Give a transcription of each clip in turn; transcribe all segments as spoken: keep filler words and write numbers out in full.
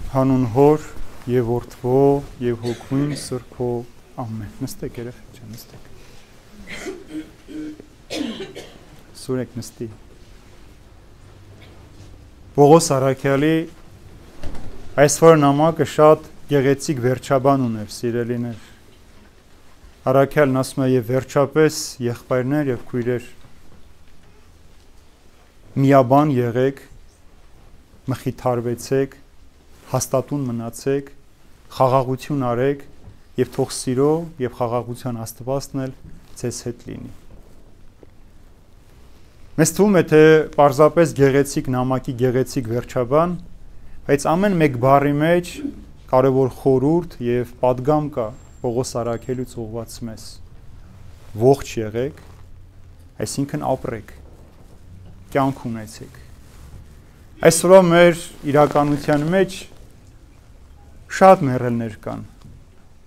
Հանուն Հոր եւ Որդվո եւ Հոգուն Սրբո ամեն։ Նստեք երեխեք ջան, նստեք։ Սուրեք նստի։ Պողոս Արաքյալի այսօր նամակը շատ գեղեցիկ վերջաբան ուներ, սիրելիներ։ Արաքյալն ասում է եւ վերջապես եղբայրներ եւ քույրեր միաբան եղեք, մխիթարվեցեք, հաստատուն մնացեք, խաղաղություն արեք եւ թող սիրո եւ խաղաղության Աստվածն էլ ձեզ հետ լինի։ Մեզ թվում է թե պարզապես գեղեցիկ նամակի գեղեցիկ վերջաբան, բայց ամեն մեկ բառի մեջ կարևոր խորհուրդ եւ պատգամ կա Պողոս Արաքյալից ուղղված մեզ։ Ողջ եղեք, այսինքն ապրեք, կյանք ունեցեք։ Այսօր մեր իրականության մեջ շատ մեռելներ կան,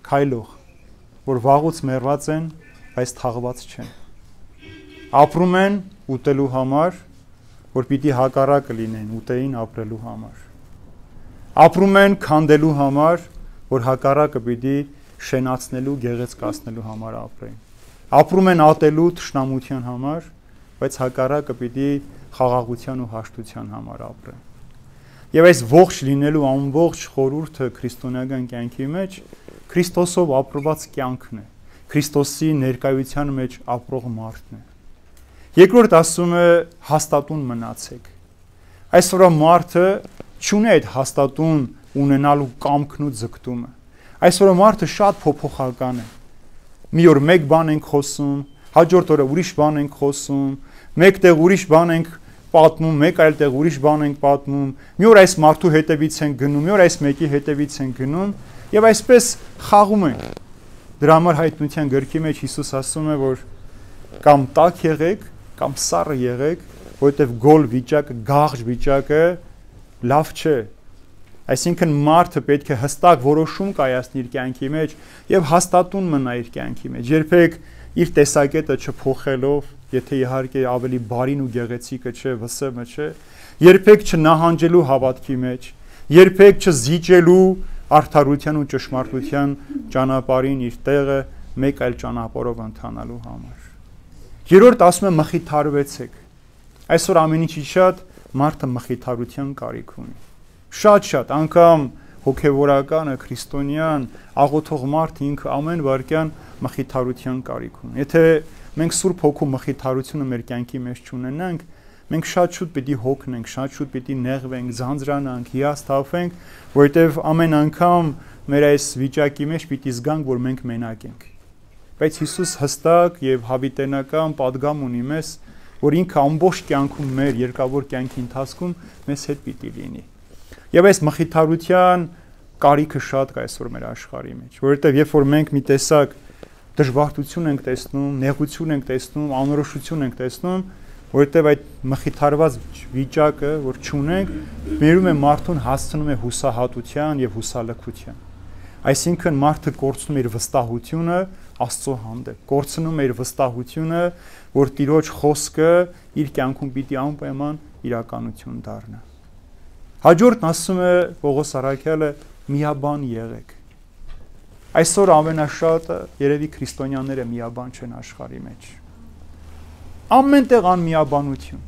քայլող, որ վաղուց մեռված են, բայց թաղված չեն։ Ապրում են ուտելու համար, որ պիտի հակառակը լինեն ուտեին ապրելու համար։ Ապրում են քանդելու համար, որ հակառակը պիտի շենացնելու, գեղեցկացնելու համար ապրեն։ Ապրում են ատելու թշնամության համար, բայց հակառակը պիտի խաղաղության ու հաշտության համար ապրեն։ Եվ այս ողջ լինելու ամբողջ խորհուրդը քրիստոնեական կյանքի մեջ Քրիստոսով ապրված կյանքն է, Քրիստոսի ներկայության մեջ ապրող մարդն է։ Երկրորդ ասում է հաստատուն մնացեք։ Այսօր մարդը չունի այդ հաստատուն ունենալու կամքն ու ձգտումը։ Այսօր մարդը շատ փոփոխական է։ Մի օր մեկ բան ենք խոսում, հաջորդ օրը ուրիշ բան ենք խոսում, մեկտեղ ուրիշ բան ենք պատմում, մեկ այլ տեղ ուրիշ բան ենք պատմում, մի օր այս մարդու հետևից ենք գնում, մի օր այս մեկի հետևից ենք գնում եւ այսպես խաղում ենք։ Դրա համար հայտնության գրքի մեջ Հիսուս ասում է, որ կամ տաք եղեք, կամ սառը եղեք, որովհետեւ գոլ վիճակը, գաղջ վիճակը լավ չէ։ Այսինքն մարդը պետք է հստակ որոշում կայացնի իր կյանքի մեջ եւ հաստատուն մնա իր կյանքի մեջ։ Երբեք իր տեսակետը չփոխելով, եթե իհարկե ավելի բարին ու գեղեցիկը չէ, վսեմը չէ, երբեք չնահանջելու հավատքի մեջ, երբեք չզիջելու արդարության ու ճշմարտության ճանապարհին իր տեղը մեկ այլ ճանապարհով ընթանալու համար։ Երրորդ ասում է մխիթարվեցեք։ Այսօր ամեն ինչի շատ մարդը մխիթարության կարիք ունի։ Շատ-շատ, անգամ հոգևորականը, քրիստոնյան, աղոթող մարդը ինքը ամեն վարքյան մխիթարության կարիք ունի։ Եթե մենք Սուրբ Հոգու մխիթարությունը մեր կյանքի մեջ չունենանք, մենք շատ շուտ պիտի հոգնենք, շատ շուտ պիտի նեղվենք, ձանձրանանք, հիասթափվենք, որովհետև ամեն անգամ մեր այս վիճակի մեջ պիտի զգանք, որ մենք մենակ ենք։ Բայց Հիսուս հստակ եւ հավիտենական պատգամ ունի մեզ, որ ինքը ամբողջ կյանքում մեր երկավոր կյանքի ընթացքում մեզ հետ պիտի լինի։ Եվ այս մխիթարության կարիքը շատ կա այսօր մեր աշխարհի մեջ, որովհետև երբ որ մենք մի տեսակ դժբախտություն ենք տեսնում, նեղություն ենք տեսնում, անորոշություն ենք տեսնում, որովհետև այդ մխիթարված վիճակը, որ չունենք, բերում է մարդուն հասցնում է հուսահատության եւ հուսալքության։ Այսինքն մարդը կորցնում է իր վստահությունը Աստծո հանդեպ, կորցնում է իր վստահությունը, որ Տիրոջ խոսքը իր կյանքում պիտի անպայման իրականություն դառնա։ Հաջորդն ասում է Պողոս Արաքյալը միաբան եղեք։ Այսօր ամենաշատը երևի քրիստոնյաները միաբան չեն աշխարհի մեջ։ Ամենտեղ անմիաբանություն։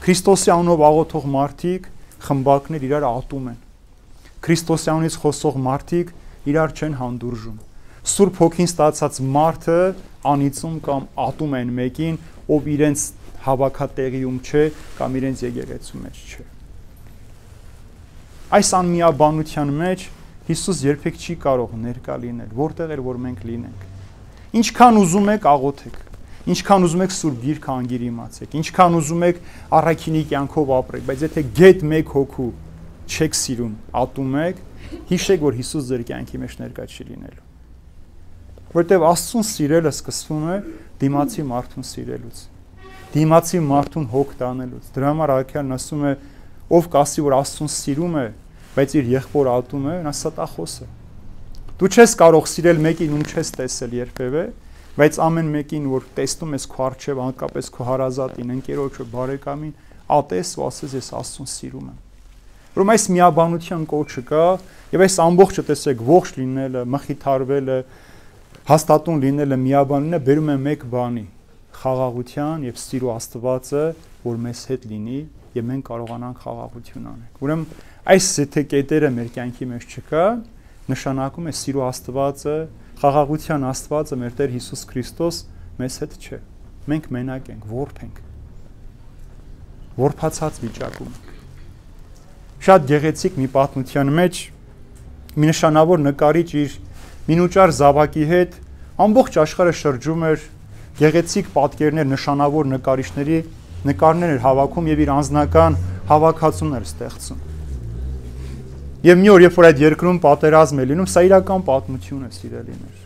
Քրիստոսի անունով աղոթող մարդիկ, խմբակներ իրար ատում են։ Քրիստոսի անունից խոսող մարդիկ իրար չեն հանդուրժում։ Սուրբ Հոգին ստացած մարդը անիծում կամ ատում են մեկին, ով իրենց հավաքատեղիում չէ կամ իրենց եկեղեցու մեջ չէ։ Այս անմիաբանության մեջ Հիսուս երբեք չի կարող ներկա լինել, որտեղ էր որ մենք լինենք։ Ինչքան ուզում եք աղոթեք, ինչքան ուզում եք Սուրբ Գիրքը անգիր իմացեք, ինչքան ուզում եք առաքինի կյանքով ապրեք, բայց եթե գեթ մեկ հոգու չեք սիրում, ատում եք, հիշեք, որ Հիսուս ձեր կյանքի մեջ ներկա չի լինելու։ Որտեղ Աստծուն սիրելը սկսվում է դիմացի մարդուն սիրելուց, դիմացի մարդուն հոգ տանելուց։ Դրա համար Արաքյալն ասում է, ով կասի, որ Աստծուն սիրում է, բայց իր եղբոր ատում է, նա ստախոս է։ Դու չես կարող սիրել մեկին, ում չես տեսել երբևէ, բայց ամեն մեկին, որ տեսնում ես քո առջև, հանկապես քո հարազատին, ընկերոջը, բարեկամին, ատես ու ասես ես Աստծուն սիրում եմ։ Որում այս միաբանության կոչը կա, եւ այս ամբողջը տեսեք ողջ լինելը, մխիթարվելը, հաստատուն լինելը, միաբանելը բերում է մեկ բանի՝ խաղաղության եւ սիրո Աստվածը, որ մեզ հետ լինի եւ մենք կարողանանք խաղաղություն անել։ Ուրեմն այս եթե կետերը մեր կյանքի մեջ չկա, նշանակում է սիրո Աստվածը, խաղաղության Աստվածը, մեր Տեր Հիսուս Քրիստոս մեզ հետ չէ։ Մենք մենակ ենք, որբ ենք։ Որբացած վիճակում ենք։ Շատ գեղեցիկ մի պատմության մեջ մի նշանավոր նկարիչ իր մինուճար զավակի հետ ամբողջ աշխարհը շրջում էր, գեղեցիկ պատկերներ, նշանավոր նկարիչների նկարներ էր հավաքում եւ իր անձնական հավաքածուներ ստեղծում։ Եվ մի օր, երբ որ այդ երկրում պատերազմ է լինում, սա իրական պատմություն է, սիրելիներ։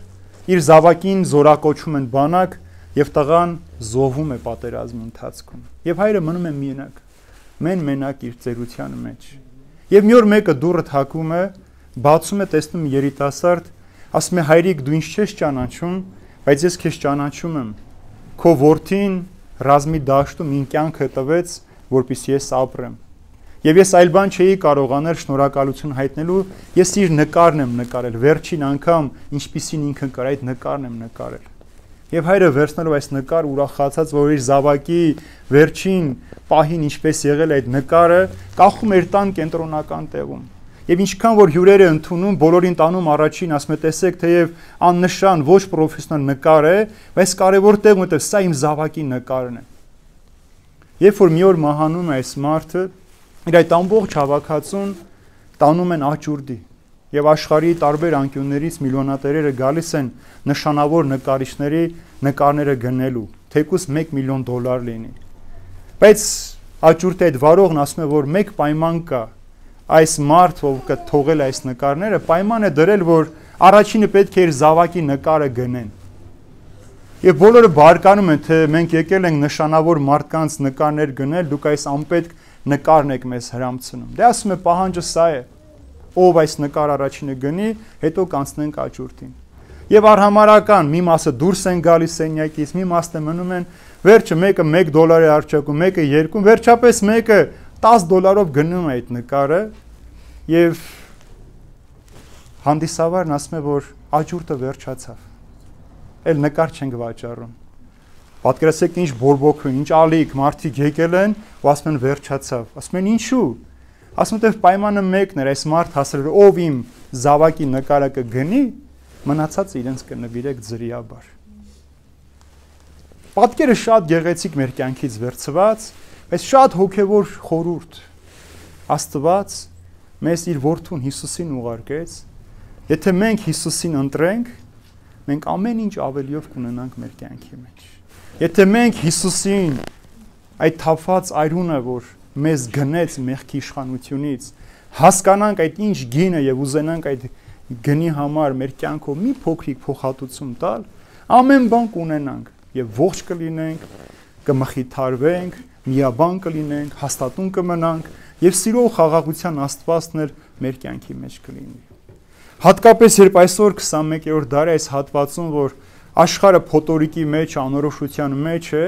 Իր զավակին զորակոչում են բանակ եւ տղան զոհվում է պատերազմի ընթացքում։ Եվ հայրը մնում է մենակ, մեն մենակ իր ծերության մեջ։ Եվ մի օր մեկը դուռը թակում է, բացում է, տեսնում երիտասարդ, ասում է հայրիկ դու ինձ չես ճանաչում, բայց ես քեզ ճանաչում եմ։ Քո որդին ռազմի դաշտում ին կյանքը տվեց, որպեսզի ես ապրեմ։ Եվ ես այլ բան չէի կարող անել շնորհակալություն հայտնելու, ես իր նկարն եմ նկարել, վերջին անգամ ինչպիսին ինքը կար, այդ նկարն եմ նկարել։ Եվ հայրը վերցնելով այս նկար ուրախացած, որ իր զավակի վերջին պահին ինչպես եղել այդ նկարը, կախում էր տան կենտրոնական տեղում։ Եվ ինչքան որ հյուրերը ընդունում, բոլորին տանում առաջին, ասում է տեսեք, թեև աննշան ոչ պրոֆեսիոնալ նկար է, բայց կարևոր տեղ ունի, սա իմ զավակի նկարն է։ Երբ որ մի օր մահանում է այս մարդը, իր այդ ամբողջ հավաքածուն տանում են աճուրդի եւ աշխարհի տարբեր անկյուններից միլիոնատերերը գալիս են նշանավոր նկարիչների նկարները գնելու, թեկուզ մեկ միլիոն դոլար լինի։ Բայց աճուրդի այդ վարողն ասում է, որ մեկ պայման կա, այս մարդ, ով կթողել այս նկարները, պայման է դրել, որ առաջինը պետք է իր զավակի նկարը գնեն։ Եվ բոլորը բարկանում են, թե մենք եկել ենք նշանավոր մարդկանց նկարներ գնել, դուք այս անպետք նկարն եք մեզ հրամցնում։ Դե ասում է պահանջը սա է, ով այս նկար առաջինը գնի, հետո կանցնենք աճուրդին։ Եվ արհամարական մի մասը դուրս են գալիս սենյակից, մի մասը մնում են, վերջը մեկը մեկ դոլար է արճակում, մեկը երկու, վերջապես մեկը տասը դոլարով գնում է այդ նկարը, եւ հանդիսավարն ասում է, որ աճուրդը վերջացավ։ Էլ նկար չենք վաճառում։ Պատկերացրեք ինչ բորբոքուն, ինչ ալիք, մարդիկ եկել են ու ասում են վերջացավ։ Ասում են ինչու։ Ասում են պայմանը մեկն էր, այս մարդ հասել էր, ով իմ զավակի նկարը կգնի, մնացածը իրենց կնվիրեք ձրիաբար։ Պատկերը շատ գեղեցիկ մեր կյանքից վերցված, բայց շատ հոգևոր խորհուրդ։ Աստված մեզ իր որդուն Հիսուսին ուղարկեց։ Եթե մենք Հիսուսին ընտրենք, մենք ամեն ինչ ավելիով կունենանք մեր կյանքի մեջ։ Եթե մենք Հիսուսին այդ թափված այրունը, որ մեզ գնեց մեղքի իշխանությունից, հասկանանք այդ ինչ գինը եւ ուզենանք այդ գնի համար մեր կյանքով մի փոքրիկ փոխհատուցում տալ, ամեն բան կունենանք եւ ողջ կլինենք, կմխիթարվենք, միաբան կլինենք, հաստատուն կմնանք եւ սիրո խաղաղության Աստվածն էլ մեր կյանքի մեջ կլինի։ Հատկապես երբ այսօր քսանմեկերորդ դարի այս հատվածում, որ աշխարհը փոթորիկի մեջ, անորոշության մեջ է,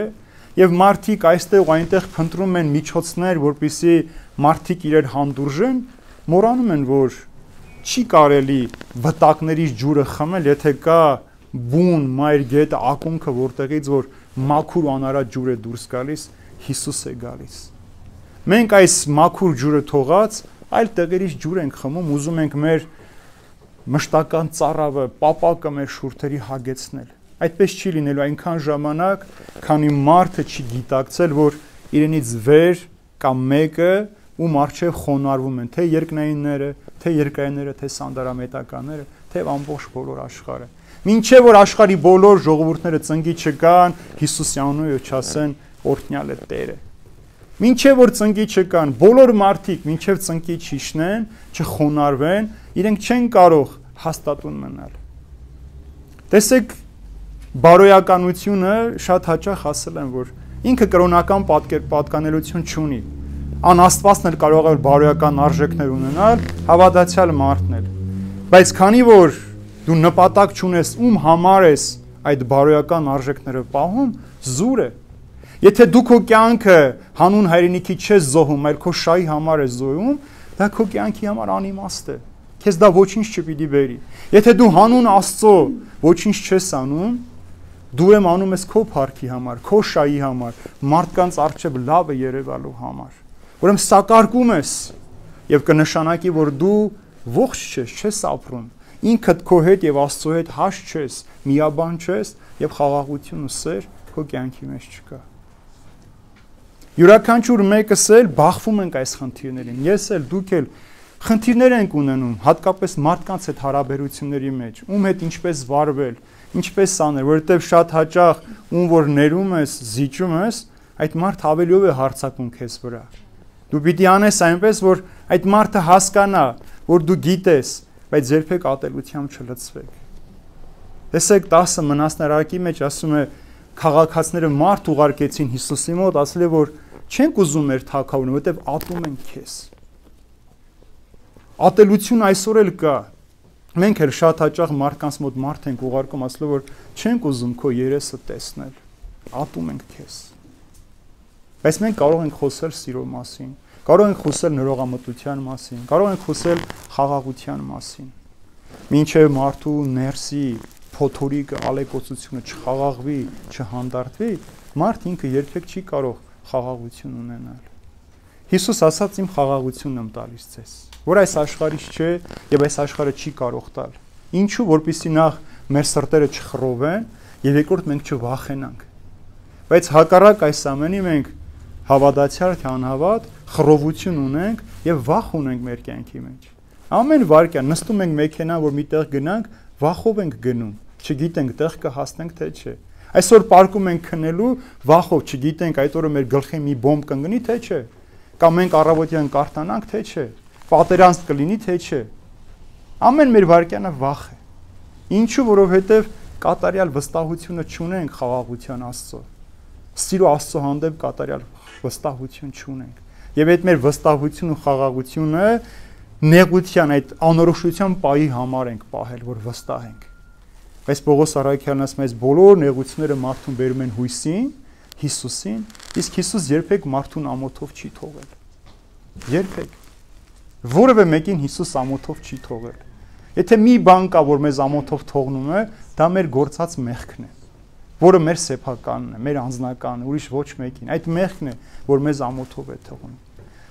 եւ մարդիկ այստեղ ու այնտեղ փնտրում են միջոցներ, որպեսզի մարդիկ իրար հանդուրժեն, մոռանում են, որ չի կարելի վտակներից ջուրը խմել, եթե կա բուն, մայր գետը, ակունքը, որտեղից որ մաքուր ու անարատ ջուր է դուրս գալիս, Հիսուս է գալիս։ Մենք այս մաքուր ջուրը թողած այլ տեղերից ջուր ենք խմում, ուզում ենք մեր մշտական ծառավը, պապակը մեր շուրթերի հագեցնել։ Այդպես չի լինելու այնքան ժամանակ, քանի մարդը չի գիտակցել, որ իրենից վեր կամ մեկը ում առջև խոնարհվում են, թե երկնայինները, թե երկայինները, թե սանդարամետականները, թե ամբողջ բոլոր աշխարհը։ Մինչև որ աշխարհի բոլոր ժողովուրդները ծնկի չկան, Հիսուսի անունով չասեն օրհնյալ է Տերը։ Մինչև որ ծնկի չկան, բոլոր մարդիկ մինչև ծնկի չիշնեն, չխոնարհվեն, իրենք չեն կարող հաստատուն մնալ։ Տեսեք, բարոյականությունը շատ հաճախ ասել են, որ ինքը կրոնական պատկանելություն չունի։ Անաստվածն էլ կարող է բարոյական արժեքներ ունենալ, հավատացյալ մարդն էլ։ Բայց քանի որ դու նպատակ չունես, ում համար ես այդ բարոյական արժեքները պահում, զուր է։ Եթե դու քո կյանքը հանուն հայրենիքի չես զոհում, այլ քո շահի համար ես զոհում, դա քո կյանքի համար անիմաստ է։ Քեզ դա ոչինչ չպիտի բերի։ Եթե դու հանուն Աստծո ոչինչ չես անում, դու ուրեմն անում ես քո փառքի համար, քո շայի համար, մարդկանց առջև լավը երևալու համար։ Ուրեմն սակարկում ես եւ կնշանակի, որ դու ողջ չես, չես ապրում։ Ինքդ քո հետ եւ Աստծո հետ հաշտ չես, միաբան չես եւ խաղաղություն ու սեր քո կյանքի մեջ չկա։ Յուրաքանչյուր մեկս էլ բախվում ենք այս խնդիրներին։ Ես էլ, դուք էլ խնդիրներ ենք ունենում, հատկապես մարդկանց հետ հարաբերությունների մեջ, ում հետ ինչպես վարվել, ինչպես անել, որովհետև շատ հաճախ ում որ ներում ես, զիջում ես, այդ մարդը ավելիով է հարձակում քեզ վրա։ Դու պիտի անես այնպես, որ այդ մարդը հասկանա, որ դու գիտես, բայց երբեք ատելությամբ չլցվեք։ Տեսեք տասը մնացնարակի մեջ ասում է քաղաքացիները մարդ ուղարկեցին Հիսուսի մոտ, ասել է որ չենք ուզում մեր թագավորին, որովհետև ատում են քեզ։ Ատելություն այսօր էլ կա։ Մենք էլ շատ հաճախ մարդկանց մոտ մարդ ենք ուղարկում, ասելով որ չենք ուզում քո երեսը տեսնել, ատում ենք քեզ։ Բայց մենք կարող ենք խոսել սիրո մասին, կարող ենք խոսել նորողամտության մասին, կարող ենք խոսել խաղաղության մասին։ Մինչև մարդու ներսի փոթորիկը, ալեկոծությունը չխաղաղվի, չհանդարտվի, մարդ ինքը երբեք չի կարող խաղաղություն ունենալ։ Հիսուս ասաց իմ խաղաղությունն եմ տալիս ձեզ, որ այս աշխարհից չէ եւ այս աշխարհը չի կարող տալ։ Ինչու, որպեսզի նախ մեր սրտերը չխռովեն եւ երկրորդ մենք չվախենանք։ Բայց հակառակ այս ամենի մենք հավատացյալ թե անհավատ խռովություն ունենք եւ վախ ունենք մեր կյանքի մեջ։ Ամեն վարքյան նստում ենք մեքենա, որ միտեղ գնանք, վախով ենք գնում, չգիտենք տեղ կհասնենք թե չէ։ Այսօր պարկում ենք քնելու, վախով չգիտենք այդ օրը մեր գլխին մի բոմբ կընկնի թե չէ։ Կամ մենք առավոտյան կարթանանք թե չէ։ Պատերանք կլինի թե չէ։ Ամեն մեր վարքյանը վախ է։ Ինչու, որովհետև կատարյալ վստահությունը չունենք խաղաղության Աստծո։ Սիրո Աստծո հանդեպ կատարյալ վստահություն չունենք։ Եվ այդ մեր վստահությունն ու խաղաղությունը նեղության այդ անորոշության պայի համար ենք պահել, որ վստահ ենք։ Բայց Պողոս առաքյալն ասում է, այս բոլոր նեղությունները մարդուն բերում են հույսին, Հիսուսին, իսկ Հիսուս երբեք մարդուն ամոթով չի թողել։ Երբեք։ Որևէ մեկին Հիսուս ամոթով չի թողել։ Եթե մի բան կա, որ մեզ ամոթով թողնում է, դա մեր գործած մեղքն է, որը մեր սեփականն է, մեր անձնականն է, ուրիշ ոչ մեկին։ Այդ մեղքն է, որ մեզ ամոթով է թողնում։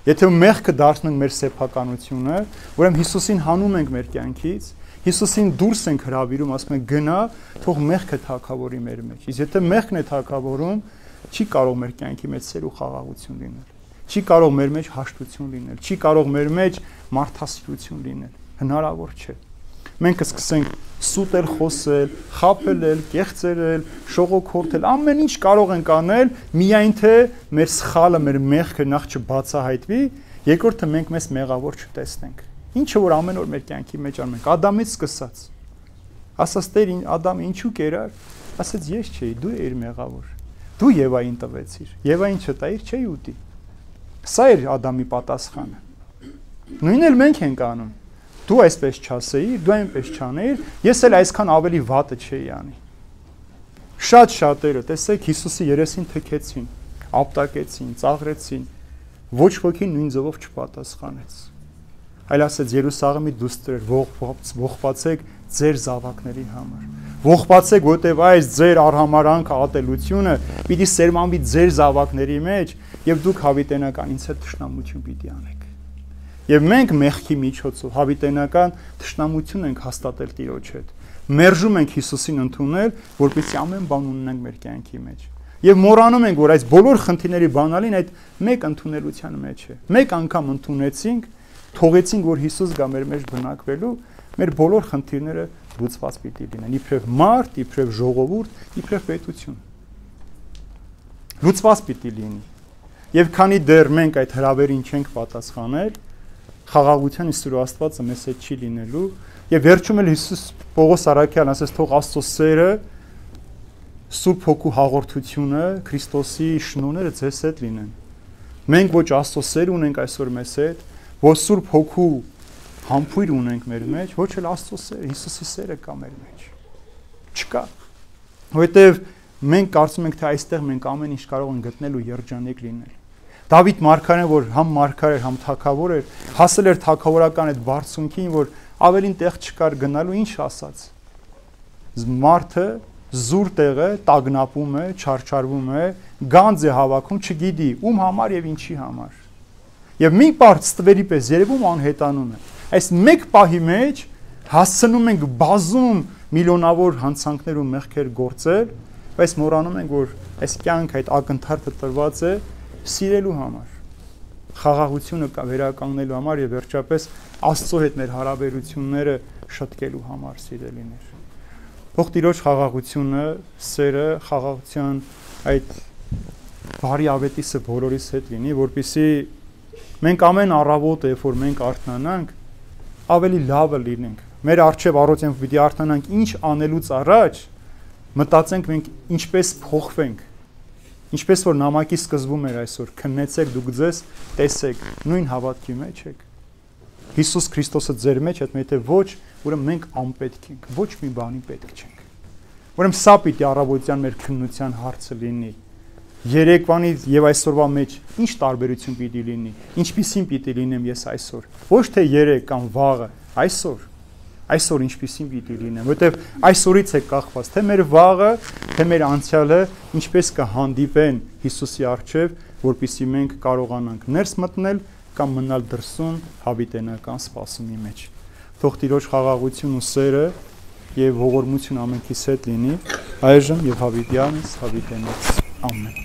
Եթե մեղքը դարձնենք մեր սեփականությունը, ուրեմն Հիսուսին հանում ենք մեր կյանքից, Հիսուսին դուրս ենք հրավիրում, ասում ենք գնա, թող մեղքը թագավորի մեր մեջ։ Իսկ եթե մեղքն է թագավորում, չի կարող մեր կյանքի մեջ սեր ու խաղաղություն լինել։ Չի կարող մեր մեջ հաշտություն լինել, չի կարող մեր մեջ մարդասիրություն լինել։ Հնարավոր չէ։ Մենք կսկսենք սուտել, խոսել, խաբել, կեղծել, շողոքորթել, ամեն ինչ կարող ենք անել, միայն թե մեր սխալը, մեր մեղքը նախ չբացահայտվի, երկրորդը մենք մեզ մեղավոր չտեսնենք։ Ինչը որ ամեն օր մեր կյանքի մեջ անում ենք, Ադամից սկսած։ Ասաց Տեր, Ադամը ինչու կերար։ Ասաց ես չէի, դու էիր մեղավոր։ Դու Եվային տվեցիր։ Եվային չտայիր, չէի ուտի։ Սա էր Ադամի պատասխանը։ Նույնն էլ մենք ենք անում։ Դու այսպես չասեիր, դու այնպես չանեիր, ես էլ այսքան ավելի վատը չէի անի։ Շատ շատերը, տեսեք, Հիսուսի երեսին թքեցին, ապտակեցին, ծաղրեցին, ոչ ոքի նույն ձևով չպատասխանեց։ Այլ ասեց Երուսաղեմի դուստր, ողբացեք ձեր զավակների համար։ Ողբացեք, որտեղ այս ձեր արհամարանքը, ատելությունը պիտի սերմանվի ձեր զավակների մեջ, եւ դուք հավիտենական ինձ հետ թշնամություն պիտի անեք։ Եվ մենք մեղքի միջոցով հավիտենական թշնամություն ենք հաստատել Տիրոջ հետ։ Մերժում ենք Հիսուսին ընդունել, որպեսզի ամեն բան ունենանք մեր կյանքի մեջ։ Եվ մոռանում ենք, որ այս բոլոր խնդիրների բանալին այդ մեկ ընդունելության մեջ է։ Մեկ անգամ ընդունեցինք, թողեցինք, որ Հիսուս գա մեր մեջ բնակվելու, մեր բոլոր խնդիրները լուծված պիտի լինեն, իբրև մարդ, իբրև ժողովուրդ, իբրև պետություն։ Լուծված պիտի լինի։ Եվ քանի դեռ մենք այդ հրավերին չենք պատասխանել, խաղաղության Սուրբ Աստվածը մեզ հետ չի լինելու, եւ վերջում էլ Հիսուս Պողոս առաքյալն ասես թող Աստծո սերը, Սուրբ Հոգու հաղորդությունը, Քրիստոսի շնորհները ձեզ հետ լինեն։ Մենք ոչ Աստծո սեր ունենք այսօր մեզ հետ, ոչ Սուրբ Հոգու համբույր ունենք մեր մեջ, ոչ էլ Աստծո սեր, Հիսուսի սերը կա մեր մեջ։ Չկա։ Որովհետեւ մենք կարծում ենք, թե այստեղ մենք ամեն ինչ կարող ենք գտնել ու երջանիկ լինել։ Դավիթ մարգարեն, որ համ մարգար էր, համ թագավոր էր, հասել էր թագավորական այդ բարձունքին, որ ավելին տեղ չկար գնալու, ինչ ասաց։ Մարդը զուր տեղը տագնապում է, չարչարվում է, գանձ է հավաքում, չգիտի ում համար եւ ինչի համար։ Եվ մի պարտ ստվերի պես երևում անհետանում է։ Այս մեկ պահի մեջ հասցնում ենք բազում միլիոնավոր հանցանքներ ու մեղքեր գործել, բայց մոռանում ենք, որ այս կյանքը այդ ակնթարթը տրված է սիրելու համար, խաղաղությունը վերականգնելու համար եւ վերջապես Աստծո հետ մեր հարաբերությունները շտկելու համար, սիրելիներ։ Թող Տիրոջ խաղաղությունը, սերը, խաղաղության այդ բարի ավետիսը բոլորիս հետ լինի, որպեսզի մենք ամեն առավոտ, երբ որ մենք արթնանանք, ավելի լավը լինենք։ Մեր առջև առօրյա պիտի արթնանանք ինչ անելուց առաջ, մտածենք մենք ինչպես փոխվենք, ինչպես որ նամակի սկզբում էր այսօր, քննեցեք դուք ձեզ, տեսեք, նույն հավատքի մեջ եք։ Հիսուս Քրիստոսը ձեր մեջ է, եթե ոչ, ուրեմն մենք անպետք ենք, ոչ մի բանի պետք չենք։ Ուրեմն սա պիտի առավոտյան մեր քննության հարցը լինի։ Երեկվանից եւ այսօրվա մեջ ինչ տարբերություն պիտի լինի, ինչպիսին պիտի լինեմ ես այսօր, ոչ թե երեկ կամ վաղը, այսօր։ Այսօր ինչպիսին պիտի լինեմ, որտեվ այսօրից է կախված, թե մեր վաղը, թե մեր անցյալը ինչպես կհանդիպեն Հիսուսի առջև, որպեսզի մենք կարողանանք ներս մտնել կամ մնալ դրսում հավիտենական սպասումի մեջ։ Թող Տիրոջ խաղաղություն ու սերը եւ ողորմություն ամենքիս հետ լինի, այժմ եւ հավիտյանից հավիտենից։ Ամեն։